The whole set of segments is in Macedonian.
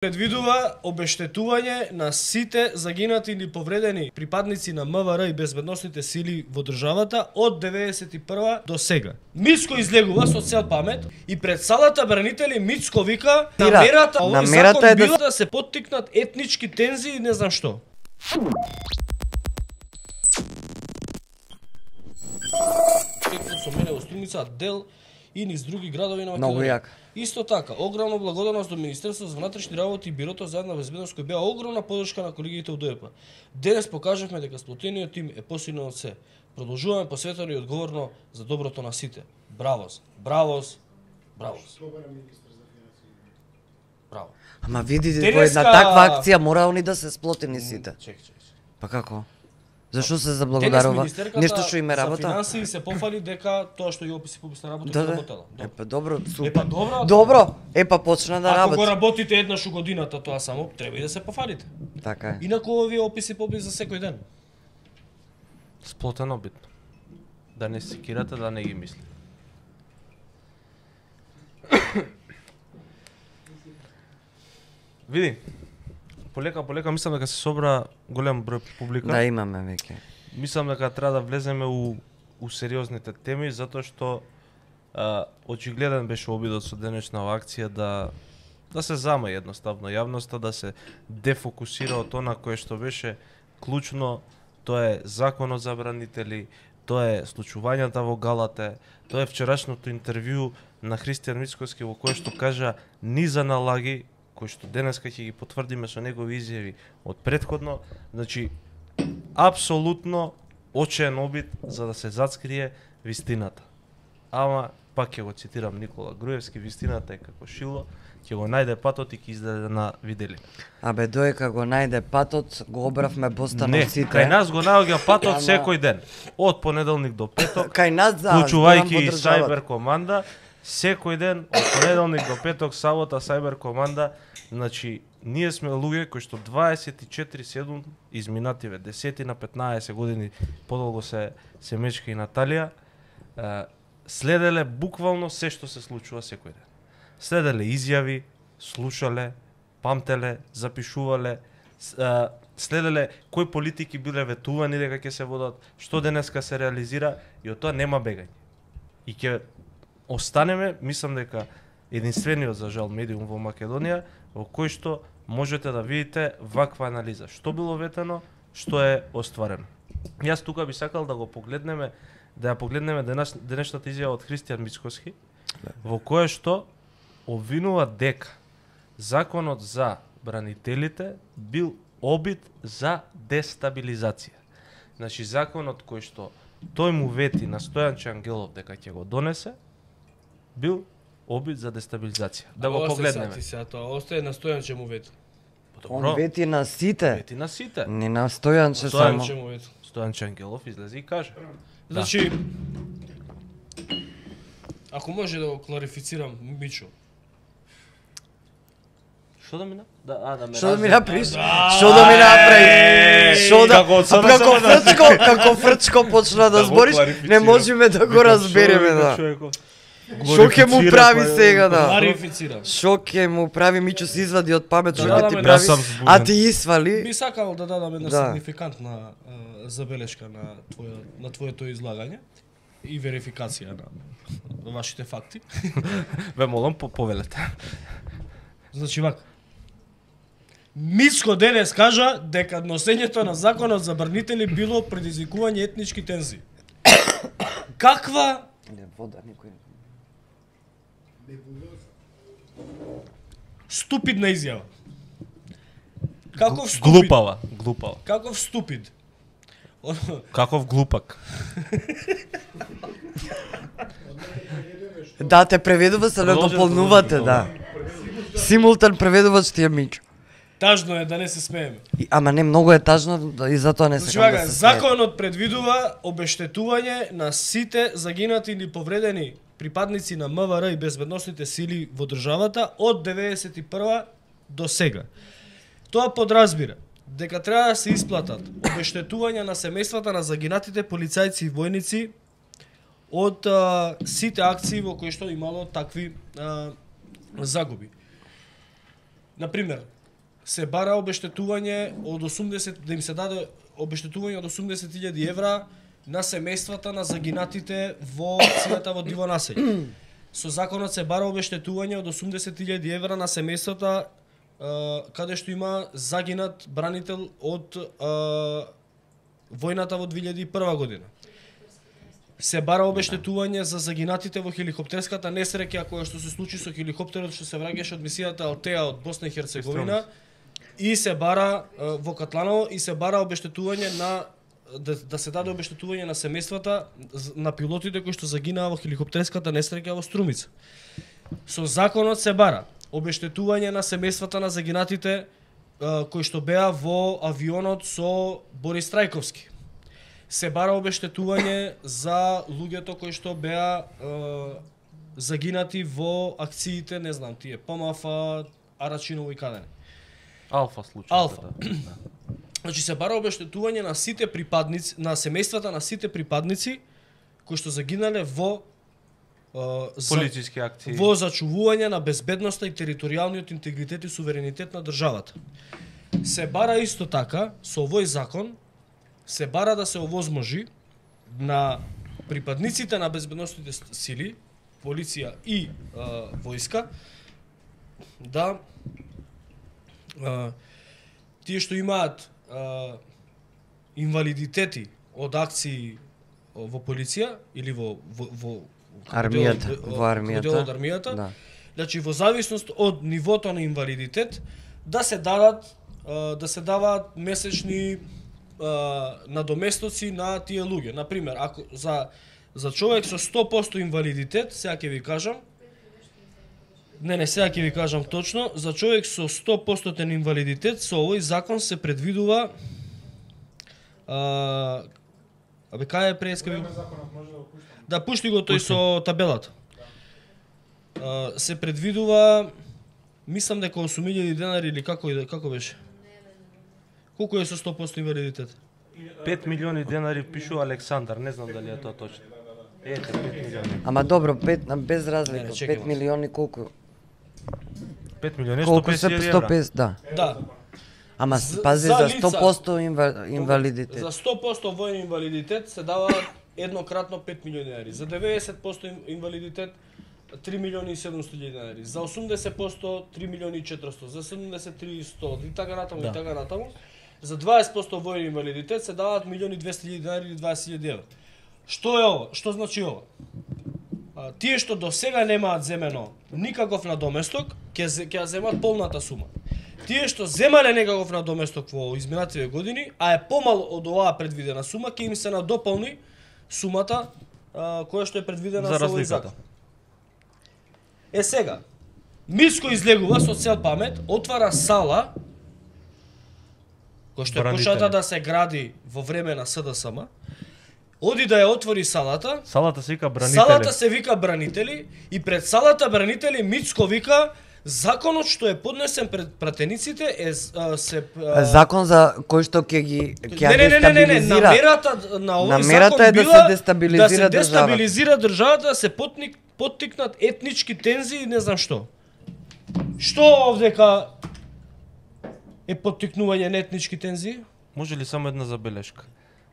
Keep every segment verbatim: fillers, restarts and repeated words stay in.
Предвидува обештетување на сите загинати или повредени припадници на МВР и безбедносните сили во државата од деветдесет и прва до сега. Мицко излегува со цел памет и пред салата бранители Мицко вика намерата овој закон е била да се поттикнат етнички тензии и не знам што. Со мене во Струмица дел и низ други градови на Македонија. Исто така, огромна благодарност до Министерството за внатрешни работи и Бирото за јавна безбедност кој беа огромна поддршка на колегите од ДОЕП. Денес покажавме дека сплотениот тим е посилен од се. Продолжуваме посветено и одговорно за доброто на сите. Бравос, бравос, бравос. Браво. Ама видите, Денеска... по една таква акција мора они да се сплотени сите. Чек, чек, чек. Па како? Зашо се заблагодарува? Нешто што име работа? За финансии се пофали дека тоа што ја описи публична работа да, да работела. Е па добро, супер. Е па добро. Добро. Е па почна да работи. Ако го работите еднаш у годината, тоа само треба и да се пофалите. Така е. Инаку овие описи побис за секој ден. Сплотено битно. Да не секирате, да не ги мисли. Види. Полека, полека, мислам дека се собра голем број публика. Да, имаме веќе. Мислам дека треба да влеземе у, у сериозните теми, затоа што а, очигледен беше обидот со денешнава акција да да се зама едноставно јавноста, да се дефокусира од она кое што беше клучно, тоа е законот за бранители, тоа е случувањата во Галате, тоа е вчерашното интервју на Христијан Мицковски во кое што кажа низа налаги кои што денеска ќе ги потврдиме со негови изјави од претходно, значи апсолутно очен обид за да се зацкрие вистината. Ама пак ќе го цитирам Никола Груевски, вистината е како шило, ќе го најде патот и ќе издаде на видели. Абе доека го најде патот, го обравме бостанот сите. Не, кај нас го наоѓа патот секој ден, од понеделник до петок. Кај нас за вклучувајќи и Сајбер команда. Секој ден, од понеделник до петок, сабота, Сајбер команда, значи, ние сме луѓе кои што дваесет и четири седум изминативе, десет на петнаесет години, подолго се, се мечка и Наталија, е, следеле буквално се што се случува секој ден. Следеле изјави, слушале, памтеле, запишувале, е, следеле кои политики биле ветувани дека ќе се водат, што денеска се реализира и од тоа нема бегање. И ќе останеме, мислам дека единствениот за жал медиум во Македонија во кој што можете да видите ваква анализа. Што било ветено, што е остварено. Јас тука би сакал да го погледнеме, да ја погледнеме денес, денешната изјава од Христијан Мицковски, во кое што обвинува дека законот за бранителите бил обид за дестабилизација. Значи законот кој што тој му вети на Стојанче Ангелов дека ќе го донесе, бил обид за дестабилизација. Да го погледнеме. Сега тоа остае на Стојанче му вети. Он вети на сите. Вети на сите. Не на Стојанче само. Стојанче му вети. Стојанче Ангелов излезе и каже. Значи, ако може да го кларифицирам, Мичо. Што да мина? Да, а да ме. Што да ми направиш? Што да ми направиш? Што да како фрчко, како фрчко почна да збориш, не можеме да го разбереме да. Шо ќе му прави сега да? Кларифицирам. Шо ќе му прави Мичо се извади од памет, шо ќе ти прави? А ти извали? Би сакал да дадам една сигнификантна забелешка на твоја на твоето излагање и верификација на вашите факти. Ве молам по повелете. Значи вака. Мицко денес кажа дека носењето на законот за бранители било предизвикување етнички тензии. Каква Не вода никој. Ступидна изјава. Каков ступид? Глупава, глупава. Каков ступид? Каков глупак. Да, те преведува се да дополнувате, да. Симултан преведувач ти е Мичо. Тажно е да не се смееме. И, ама не многу е тажно и затоа не се значи, да се смееме. Законот предвидува обештетување на сите загинати или повредени припадници на МВР и безбедносните сили во државата од деветдесет и прва до сега. Тоа подразбира дека треба да се исплатат обештетувања на семејствата на загинатите полицајци и војници од а, сите акции во кои што имало такви а, загуби. на пример, се бара обештетување од осумдесет, да им се даде обештетување од осумдесет илјади евра на семејствата на загинатите во акцијата во Диво населје. Со законот се бара обештетување од осумдесет илјади евра на семејствата каде што има загинат бранител од а, војната во две илјади и прва година. Се бара обештетување за загинатите во хеликоптерската несреќа која што се случи со хеликоптерот што се враќаше од мисијата Алтеа од Босна и Херцеговина и се бара а, во Катланово и се бара обештетување на да, да се даде обештетување на семејствата на пилотите кои што загинаа во хеликоптерската несреќа во Струмица. Со законот се бара обештетување на семејствата на загинатите а, кои што беа во авионот со Борис Трајковски. Се бара обештетување за луѓето кои што беа а, загинати во акциите, не знам, тие ПМФ, Арачиново и кадене. Алфа случај. Алфа. Значи се бара обештетување на сите припадници, на семејствата на сите припадници кои што загинале во полициски акции, во зачувување на безбедноста и територијалниот интегритет и суверенитет на државата. Се бара исто така со овој закон се бара да се овозможи на припадниците на безбедносните сили, полиција и а, војска да а, тие што имаат а, инвалидитети од акции во полиција или во во, во армијата, во армијата, од армијата, да. Значи во зависност од нивото на инвалидитет да се дадат да се даваат месечни надоместоци на тие луѓе. На пример, ако за за човек со сто проценти инвалидитет, сега ќе ви кажам, не, не, сега ќе ви кажам точно, за човек со сто проценти инвалидитет со овој закон се предвидува а, абе кај е преска ви? Да пушти го тој со табелата. А, се предвидува, мислам дека осум илјади денари или како како беше? Колку е со сто проценти инвалидитет? пет милиони денари пишува Александар, не знам дали е тоа точно. Ете, пет милиони. Ама добро, пет без разлика, не, не, пет милиони колку? пет милиони сто песет евра. сто песет, да. Да. Ама пази за, за сто проценти инва, инвалидитет. За сто проценти војен инвалидитет се дава еднократно пет милиони денари. За деветдесет проценти инвалидитет три милиони и седумсто илјади денари. За осумдесет проценти три милиони и четиристо. За седумдесет три сто. И така натаму, да. И така натаму. За дваесет проценти војен инвалидитет се даваат милиони и двесте илјади денари или дваесет илјади евра. Што е ова? Што значи ова? А, тие што до сега немаат земено никаков надоместок, ќе ќе земат полната сума. Тие што земале некаков надоместок во изминативе години, а е помал од оваа предвидена сума, ќе им се надополни сумата а, која што е предвидена за со овој закон. Е сега, Мицко излегува со цел памет, отвара сала која што е почната да се гради во време на СДСМ. Оди да ја отвори салата. Салата се вика бранители. Салата се вика бранители и пред салата бранители Мицко вика законот што е поднесен пред пратениците е а, се а... закон за кој што ќе ги ќе не, не, не, не, не, не, намерата на овој закон е била да се дестабилизира, да се дестабилизира државата, да се потник, поттикнат етнички тензии и не знам што. Што овдека е поттикнување на етнички тензии? Може ли само една забелешка?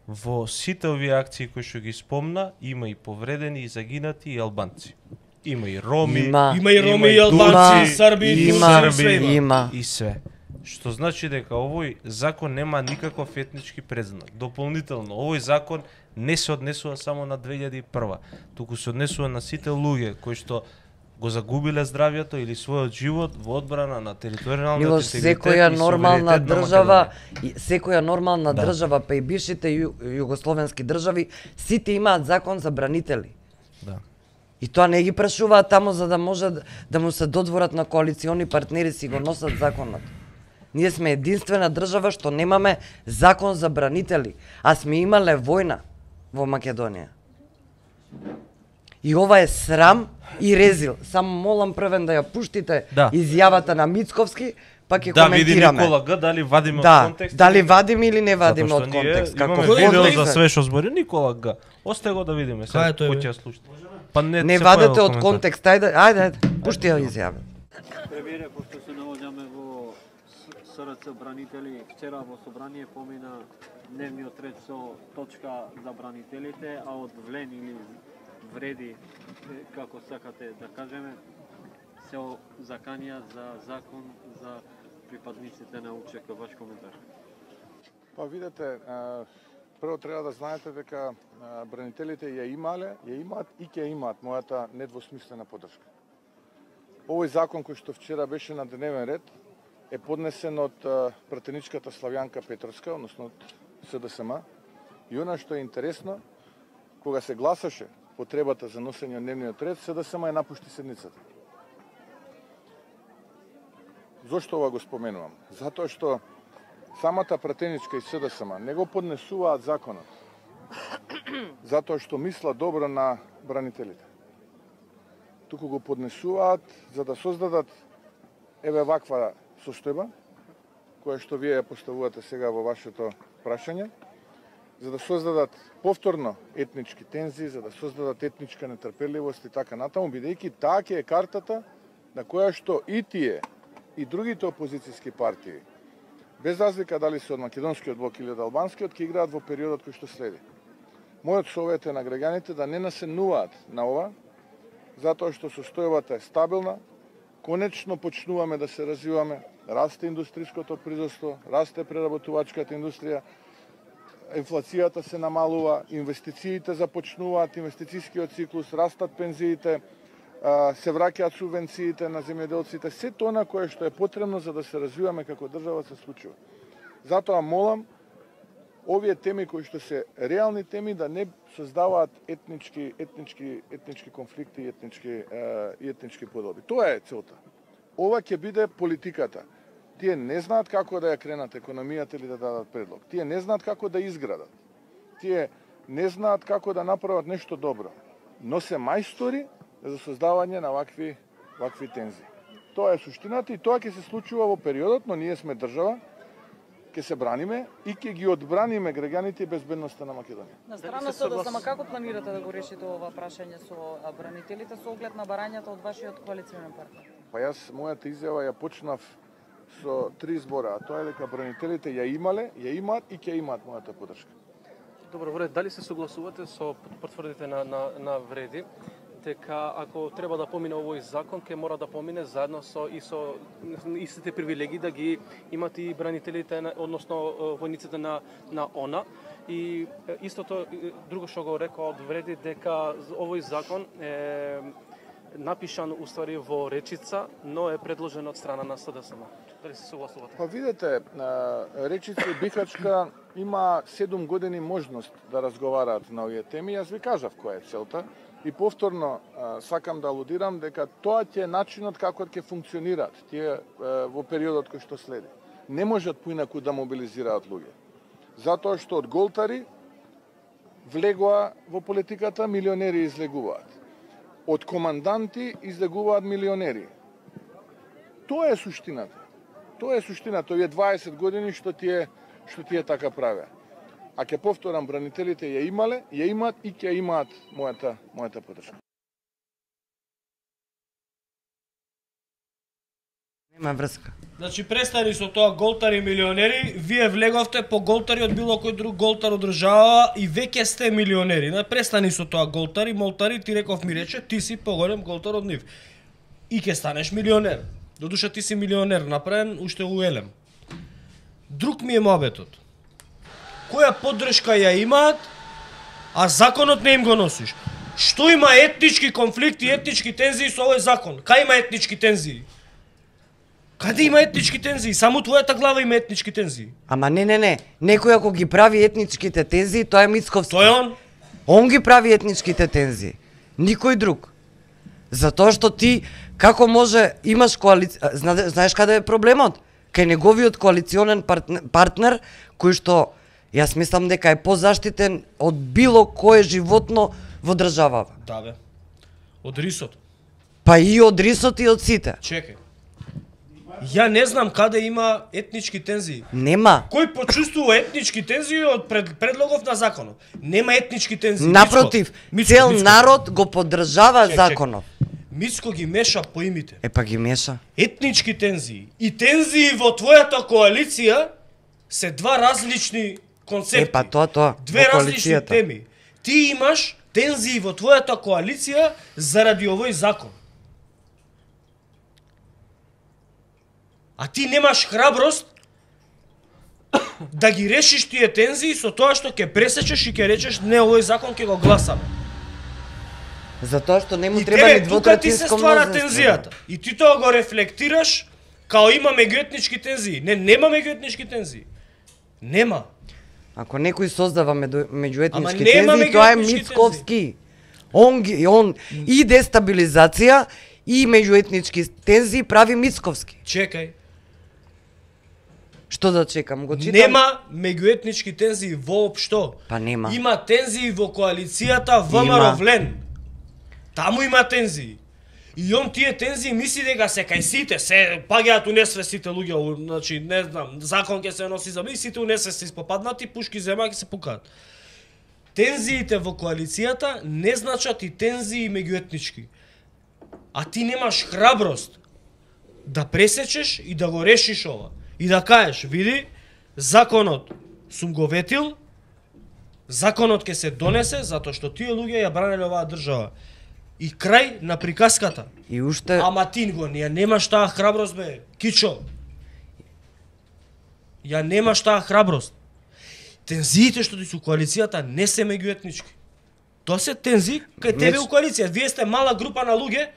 Во сите овие акции кои што ги спомна, има и повредени и загинати и албанци. Има и роми, има, има и роми и албанци, срби, има, има, има и све. Што значи дека овој закон нема никаков етнички предзнак. Дополнително, овој закон не се однесува само на две илјади и прва, туку се однесува на сите луѓе кои што го загубиле здравјето или својот живот во одбрана на територијалниот интегритет секоја и нормална држава, и секоја нормална да. држава, па и бившите ју, југословенски држави, сите имаат закон за бранители. Да. И тоа не ги прашуваат таму за да може да му се додворат на коалициони партнери, си го носат законот. Ние сме единствена држава што немаме закон за бранители, а сме имале војна во Македонија. И ова е срам и резил. Само молам првен да ја пуштите да. изјавата на Мицковски, па ќе да, коментираме. Да, види Никола Г, дали вадиме да, од контекст. Дали вадиме или не вадиме од контекст. Како видео за све што збори Никола Г. Остај го да видиме. Сега кој ќе слуша. Па не, не вадете од контекст. Ајде, ајде, ајде. Пушти ја изјава. Премиере, пошто се наоѓаме во С Р Ц бранители вчера во собрание помина дневниот ред со точка за бранителите, а од влен или вреди, како сакате да кажеме, се заканија за закон за припадниците на У Ч К. Ваш коментар? Па видете, прво треба да знаете дека бранителите ја имале, ја имаат и ќе имаат мојата недвосмислена поддршка. Овој закон кој што вчера беше на дневен ред е поднесен од пратеничката Славјанка Петровска, односно од С Д С М. И она што е интересно, кога се гласаше потребата за носење на дневниот ред, С Д С М ја напушти седницата. Зошто ова го споменувам? Затоа што самата пратеничка и С Д С М не го поднесуваат законот, затоа што мисла добро на бранителите. Туку го поднесуваат за да создадат еве ваква состојба, која што вие ја поставувате сега во вашето прашање, за да создадат повторно етнички тензии, за да создадат етничка нетрпеливост и така натаму, бидејќи таа ќе е картата на која што и тие и другите опозицијски партии, без разлика дали се од македонскиот блок или од албанскиот, ќе играат во периодот кој што следи. Мојот совет е на граѓаните да не насенуваат на ова, затоа што состојбата е стабилна, конечно почнуваме да се развиваме, расте индустриското производство, расте преработувачката индустрија, инфлацијата се намалува, инвестициите започнуваат, инвестицијскиот циклус, растат пензиите, се враќаат субвенциите на земјоделците, се тоа кое што е потребно за да се развиваме како држава се случува. Затоа молам овие теми кои што се реални теми да не создаваат етнички етнички етнички конфликти и етнички и етнички подоби. Тоа е целта. Ова ќе биде политиката. Тие не знаат како да ја кренат економијата или да дадат предлог. Тие не знаат како да изградат. Тие не знаат како да направат нешто добро. Но се мајстори за создавање на вакви вакви тензии. Тоа е суштината и тоа ќе се случува во периодот, но ние сме држава, ќе се браниме и ќе ги одбраниме граѓаните и безбедноста на Македонија. На страна со да само како планирате да го решите ова прашање со бранителите со оглед на барањата од вашиот коалиционен партнер? Па јас мојата изјава ја почнав со три збора, а тоа е дека бранителите ја имале, ја имаат и ќе имаат мојата поддршка. Добро, вред, дали се согласувате со потврдите на, на, на Вреди, дека ако треба да помине овој закон, ќе мора да помине заедно со и со истите привилегии да ги имат и бранителите, односно војниците на на ОНА. И истото друго што го рекол од Вреди, дека овој закон е напишан уствари во речица, но е предложен од страна на С Д С М. Дали се согласувате? Па видете, речица и Бихачка има седум години можност да разговараат на овие теми. Јас ви кажав која е целта. И повторно сакам да алудирам дека тоа ќе е начинот како ќе функционираат тие во периодот кој што следи. Не можат поинаку да мобилизираат луѓе. Затоа што од голтари влегоа во политиката, милионери излегуваат. Од команданти излегуваат милионери. Тоа е суштината. Тоа е суштината овие дваесет години што тие што тие така правеа. А ќе повторам, бранителите ја имале, ја имаат и ќе имаат мојата мојата поддршка. Нема врска. Значи престани со тоа голтари милионери, вие влеговте по голтари од било кој друг голтар од држава и веќе сте милионери. Не престани со тоа голтари, молтари, ти реков ми рече, ти си поголем голтар од нив. И ќе станеш милионер. Додуша ти си милионер, направен уште у Елем. Друг ми е мобетот. Која поддршка ја имаат, а законот не им го носиш. Што има етнички конфликти, етнички тензии со овој закон? Кај има етнички тензии? Каде има етнички тензии? Само твојата глава има етнички тензии. Ама не, не, не. Некој ако ги прави етничките тензии, тоа е Мицковски. Тој он? Он ги прави етничките тензии. Никој друг. Затоа што ти, како може, имаш коалиција... Знаеш каде е проблемот? Кај неговиот коалиционен партнер, кој што јас мислам дека е позаштитен од било кое животно во државава. Да бе. Од рисот. Па и од рисот и од сите. Чекај. Ја не знам каде има етнички тензии. Нема. Кој почувствува етнички тензии од пред, предлогов на законот? Нема етнички тензии. Напротив, Мицко, цел Мицко. народ го поддржава чек, законот. Чек. Мицко ги меша поимите. Е па ги меша. Етнички тензии и тензии во твојата коалиција се два различни концепти. Е па тоа тоа. Две различни теми. Ти имаш тензии во твојата коалиција заради овој закон. А ти немаш храброст да ги решиш тие тензии со тоа што ќе пресечеш и ќе речеш не, овој закон ќе го гласаме. Затоа што не му треба ни двотретинско мнозинство. Тензијата. И ти тоа го рефлектираш као има меѓуетнички тензии. Не, нема меѓуетнички тензии. Нема. Ако некој создава меѓуетнички тензии, тоа е Мицковски. Он ги он и дестабилизација и меѓуетнички тензии прави Мицковски. Чекај. Што да чекам, го читам. Нема меѓуетнички тензии воопшто. Па нема. Има тензии во коалицијата ВМРО-Влен. Таму има тензии. И он тие тензии мисли дека се кај сите, се паѓаат унесвест сите луѓе, значи не знам, закон ќе се носи за ми, сите унесвест се попаднати, пушки земаат ќе се пукаат. Тензиите во коалицијата не значат и тензии меѓуетнички. А ти немаш храброст да пресечеш и да го решиш ова. И да кажеш, види, законот сум го ветил, законот ќе се донесе затоа што тие луѓе ја бранеле оваа држава. И крај на приказката. И уште... Ама ти го, ја немаш таа храброст, бе, Кичо. Ја немаш таа храброст. Тензиите што ти се у коалицијата не се меѓуетнички. Тоа се тензии кај тебе у коалиција. Вие сте мала група на луѓе,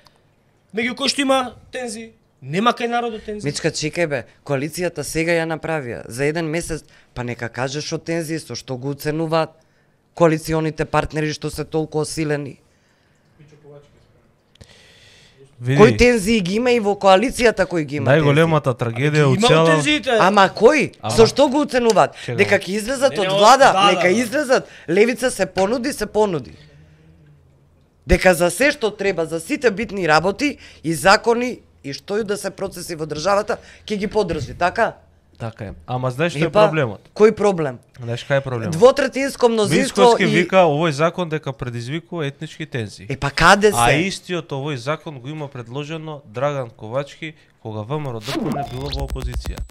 меѓу кои што има тензии. Нема кај народот тензии. Мичка, чекај бе, коалицијата сега ја направија. За еден месец, па нека кажеш што тензии, со што го оценуваат коалиционите партнери што се толку осилени. Види, кој тензии ги има и во коалицијата кој ги има? Најголемата трагедија у цела... Ама кој? Ама... Со што го оценуваат? Чего? Дека ќе излезат од влада, да, нека да, излезат. Левица се понуди, се понуди. Дека за се што треба, за сите битни работи и закони и што и да се процеси во државата, ќе ги поддржи, така? Така е. Ама знаеш што е проблемот? Кој проблем? Знаеш кај е проблемот? Двотретинско мнозинство Мицковски и... вика овој закон дека предизвикува етнички тензии. Е па каде се? А истиот овој закон го има предложено Драган Ковачки кога ВМРО-ДПМНЕ било во опозиција.